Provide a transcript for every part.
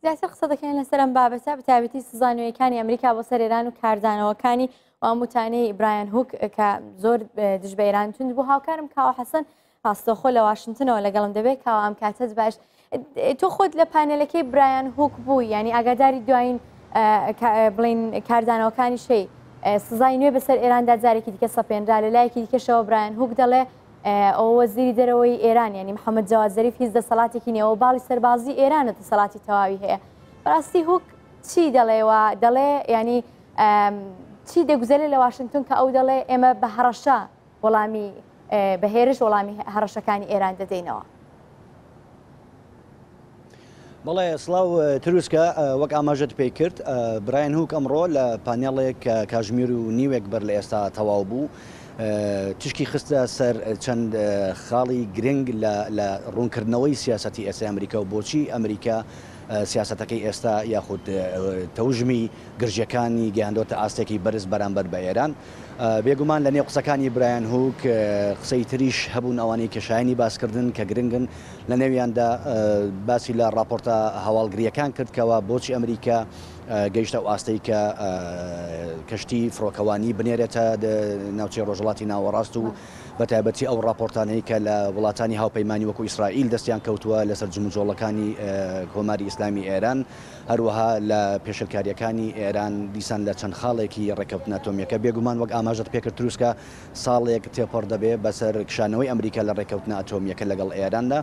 زیاتر قسە دەکەین لەسەر ئەم بابەتە، بەتایبەتی سزا نوێیەکانی ئەمریکا بۆ سەر ئێران و کاردانەوەکانی و ئەم وتانەی برایان هوک کە زۆر دژ بە ئێران توند بوو. هاوکارم کاوە حەسەن ڕاستەوخۆ لە واشنتنەوە لەگەڵم دەبێت. کاوە ئەم کاتەت باش. تۆ خۆت لە پانێلەکەی برایان هوک بووی، یعنی ئاگاداری دوایین بڵین کاردانەوەکانی شەی سزای نوێ بەسەر ئێراندا جارێکی دیکە سەپێنرا، لە لایەکی دیکەشەوە برایان هوک دەڵێ ئەوە وەزیری دەرەوەی ئێران یانی محەممەد جەواد زەریف هیچ دەسەڵاتێکی نییە، ئەوە باڵی سەربازی ئێرانە دەسەڵاتی تەواوی هەیە. بەڕاستی هوک چی دەڵێ و دەڵێ ینی چی دەگوزەرێ لە واشنگتن کە ئەو دەڵێ ئێمە بە هەڕەشە وەڵامی بە هێرش وەڵامی هەڕەشەکانی ئێران دەدەینەوە؟ بەڵێ سڵاو تروسکە، وەک ئاماژەت پێی کرد برایان هوک ئەمڕۆ لە پانێڵێک کە کاژمیر و نیوێک بەر لە ئێستا تەواو بوو تشکی خستە سەر چەند خاڵی گرنگ لە ڕوونکردنەوەی سیاسەتی ئێستای ئەمریکا و بۆچی ئەمریکا سیاسەتەکەی ئێستا یاخود تەوژمی گرژیەکانی گەیاندۆتە ئاستێکی بەرز بەرامبەر بە ئێران. بێگومان لە نێو قسەکانی برایان هوک قسەی تریش هەبوون ئەوانەی کە شایەنی باسکردن کە گرنگن، لە نێویاندا باسی لە ڕاپۆرتە هەواڵگرییەکان کرد کەوا بۆچی ئەمریکا گەیشتە ئەو ئاستەی کە کەشتی فڕۆکەوانی بنێرێتە ناوچەی ڕۆژهەڵاتی ناوەڕاست و بە تایبەتی ئەو ڕاپۆرتانەی کە لە وڵاتانی هاوپەیمانی وەکو ئیسرائیل دەستیان کەوتووە لەسەر جموجۆڵەکانی کۆماری ئیسلامی ئێران هەروەها لە پێشێلکارییەکانی ئێران دیسان لە چەند خاڵێکی ڕێککەوتنە ئەتۆمییەکە. بێگومان وەک ئاماژەت پێکرد تروسکە ساڵێک تێپەڕ دەبێ بەسەر کشانەوەی ئەمریکا لە ڕێککەوتنە ئەتۆمییەکە لەگەڵ ئێراندا،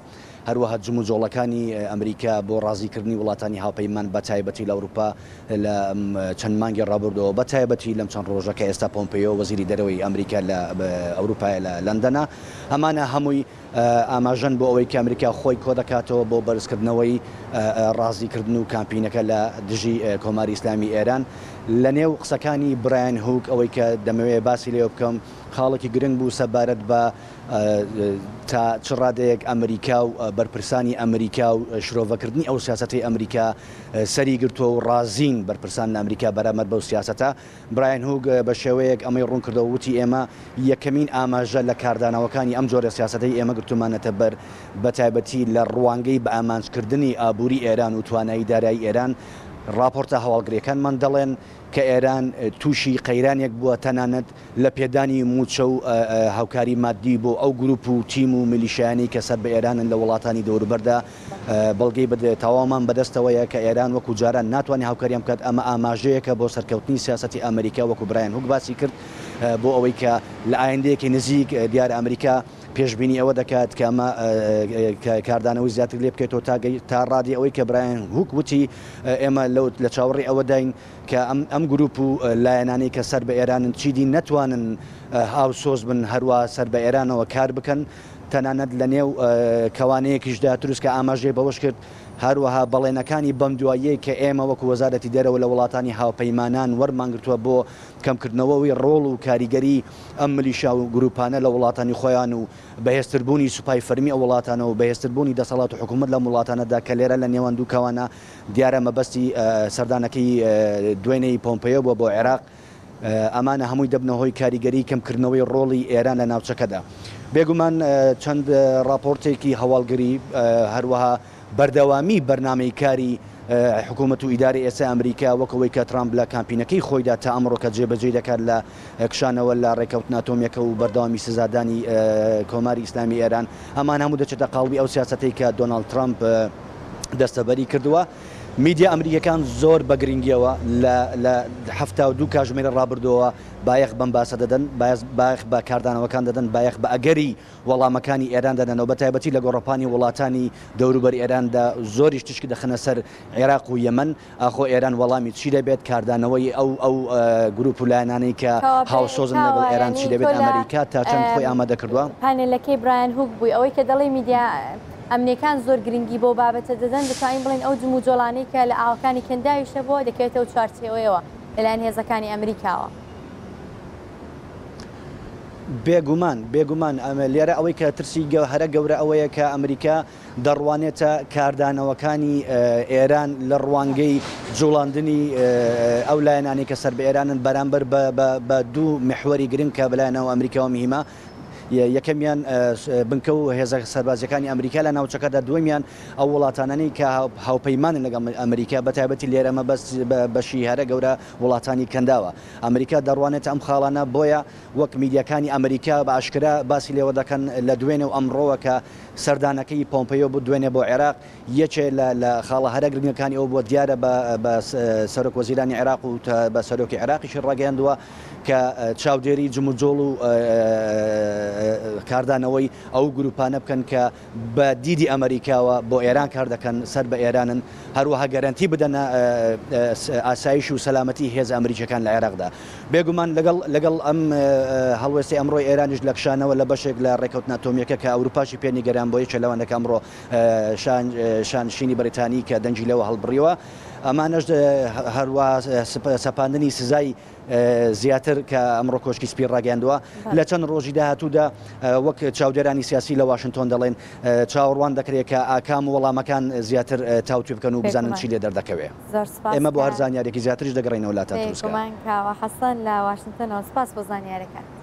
هەروەها جموجۆڵەکانی ئەمریکا بۆ ڕازیکردنی وڵاتانی هاوپەیمان بە تایبەتی لە ئەوروپا لە چەند مانگی ڕابردووەوە بە تایبەتی لەم چەند ڕۆژە کە ئێستا پۆمپێیۆ وەزیری دەرەوەی ئەمریکا لە ئەوروپایە لە لەندەنە ئەمانە هەمووی ئاماژەن بۆ ئەوەی کە ئەمریکا خۆی کۆدەکاتەوە بۆ بەرزکردنەوەی ڕازیکردن و کامپینەکە لە دژی کۆماری ئیسلامی ئێران. لە نێو قسەکانی برایان هوک ئەوەی کە دەمەوێت باسی لێوە بکەم خاڵێکی گرنگ بوو سەبارەت بە تا چ ڕادەیەک ئەمریکا و بەرپرسانی ئەمریکا و شرۆڤەکردنی ئەو سیاسەتەی ئەمریکا سەری گرتووە و ڕازین بەرپرسان لە ئەمریکا بەرامبەر بەو سیاسەتە. برایان هوک بە شێوەیەک ئەمەی ڕوون کردەوە وتی، ئێمە یەکەمین ئاماژە لە کاردانەوەکانی ئەم جۆرە سیاسەتەی ئێمە گرتوومانەتە بەر، بە تایبەتی لە ڕوانگەی بەئامانجکردنی ئابووری ئێران و توانایی دارایی ئێران، ڕاپۆرتە هەواڵگرییەکانمان دەڵێن کە ئێران تووشی قەیرانێک بووە تەنانەت لە پێدانی مووچە و هاوکاری ماددی بۆ ئەو گروپ و تیم و میلیشیایانەی کە سەر بە ئێرانن لە وڵاتانی دەوروبەردا بەڵگەی تەواومان بەدەستەوەیە کە ئێران وەکو جاران ناتوانێت هاوکاریان بکات، ئەمە ئاماژەیەکە بۆ سەرکەوتنی سیاسەتی ئەمریکا وەکو برایان هوک باسی کرد بۆ ئەوەی کە لە ئایندەیەکی نزیک دیارە ئەمریکا پێشبینی ئەوە دەکات کە ئەمە کاردانەوەی زیاتر لێ بکەێتەوە تا ڕادی ئەوەی کە برایان هوک وتی ئێمە لە چاوەڕێی ئەوەداین کە ئەم گروپ و لایەنانەی کە سەر بە ئێرانن چیدی نەتوانن هاوسۆز بن هەروا سەر بە ئێرانەوە کار بکەن. تەنانەت لە نێو کەوانەیەکیشدا تروسکە ئاماژەی بەوەش کرد، هەروەها بەڵێنەکانی بەمدواییەی کە ئێمە وەکو وەزارەتی دەرەوە لە وڵاتانی هاوپەیمانان وەرمانگرتووە بۆ کەمکردنەوەوی ڕۆڵ و کاریگەری ئەم ملیشا و گروپانە لە وڵاتانی خۆیان و بەهێزتربوونی سوپای فەرمی ئەو وڵاتانە و بەهێزتربوونی دەسەڵات و حکوومەت لەم وڵاتانەدا کە لێرە لە نێوان دوو کەوانە دیارە مەبەستی سەردانەکەی دوێنێی پۆمپەیۆ بووە بۆ عێراق. ئەمانە هەمووی دەبنە هۆی کاریگەری کەمکردنەوەی ڕۆڵی ئێران لە ناوچەکەدا. بێگومان چەند ڕاپۆرتێکی هەواڵگری، هەروەها بەردەوامی بەرنامەی کاری حکوومەت و ئیدارەی ئێستای ئەمریکا وەک ئەوەی کە ترامپ لە کامپینەکەی خۆیدا تا ئەمڕۆ کە جێبەجێی دەکات لە کشانەوە لە ڕێککەوتنە ئەتۆمییەکە و بەردەوامی سزادانی کۆماری ئیسلامی ئێران، ئەمانە هەموو دەچێتە قاڵبی ئەو سیاسەتەی کە دۆناڵد ترامپ دەستەبەری کردووە. میدیا ئەمریکیەکان زۆر بە گرنگیەوە لە لە 72 کاژمێری ڕابردووەوە بایەخ بەم باسە دەدەن، بایەخ بە کاردانەوەکان دەدەن، بایەخ بە ئەگەری وەڵامەکانی ئێران دەدەنەوە، بە تایبەتی لە گۆڕەپانی وڵاتانی دەوروبەری ئێراندا زۆریش تیشک دەخەنە سەر عێراق و یەمەن، ئاخۆ ئێران وەڵامی چی دەبێت، کاردانەوەی ئەو ئەو گروپ و لایەنانەی کە هاوسۆزن لەگەڵ ئێران چی دەبێت، ئەمریکا تا چەند خۆی ئامادە کردووە؟ پانێلەکەی برایان هوک بووی، ئەوەی کە دەڵێی میدیا ئەمنیەکان زۆر گرنگی بەو بابەتە دەدەن، دەتوانین بڵێین ئەو جموجۆڵانەی کە لە ئاوەکانی کەنداویش هەبووە دەکەوێتە ئەو چوارچێوەیەوە لەلایەن هێزەکانی ئەمریکاوە. بێگومان، بێگومان، لێرە ئەوەی کە ترسی هەرە گەورە ئەوەیە کە ئەمریکا دەڕوانێتە کاردانەوەکانی ئێران لە ڕوانگەی جوڵاندنی ئەو لایەنانەی کە سەر بە ئێرانن بەرامبەر بە دوو میحوەری گرنگ کە بەلایەنەوە ئەمریکاوە مهمە. یەکەمیان بنکە و هێزە سەربازییەکانی ئەمریکا لە ناوچەکەدا، دووەمیان ئەو وڵاتانەی کە هاوپەیمانن لەگەڵ ئەمریکا، بەتایبەتی لێرە مەبەست بە بەشی هەرە گەورە وڵاتانی کەنداوە. ئەمریکا دەڕوانێتە ئەم خاڵانە، بۆیە وەک میدیاکانی ئەمریکا بە ئاشکرا باسی لێوە دەکەن لە دوێنێ و ئەمڕۆوە کە سەردانەکەی پۆمپەیۆ بوو دوێنێ بۆ عێراق، یەکێ لە لە خاڵە هەرە گرنگەکانی ئەوە بووە دیارە بە بە سەرۆک وەزیرانی عێراق و بە سەرۆکی عێراقیشی ڕاگەیاندووە کە چاودێری جموجۆڵ و کاردانەوەی ئەو گروپانە بکەن کە بە دیدی ئەمەریکاوە بۆ ئێران کار دەکەن، سەر بە ئێرانن، هەروەها گەرەنتی بدەنە ئاسایش و سەلامەتی هێزە ئەمریکییەکان لە عێراقدا. بێگومان لەگەڵ لەگەڵ ئەم هەڵوێستەی ئەمڕۆی ئێرانیش لە کشانەوە لە بەشێک لە ڕێککەوتنە ئەتۆمییەکە کە ئەوروپاشی پێ نیگەران بووە، یەکێ لەوانە کە ئەمڕۆ شانشینی بەریتانی کە دەنگی لەوە هەڵبڕیوە، ئەمانەش هەروەها سەپاندنی سزای زیاتر کە ئەمڕۆ کۆشکی سپی ڕاگەیاندووە لە چەند ڕۆژی داهاتوودا وەک چاودێرانی سیاسی لە واشنتۆن دەڵێن چاوەڕوان دەکرێت کە ئاکام و وەڵامەکان زیاتر تاوتوێ بکەن و بزانن چی لێ دەردەکەوێ. ئێمە بۆ هەر زانیاریەکی زیاتریش دەگەڕێینەوە لاتان تروسکە. بێگومان کاوە حەسەن لە واشنتۆنەوە سپاس بۆ زانیارەکان.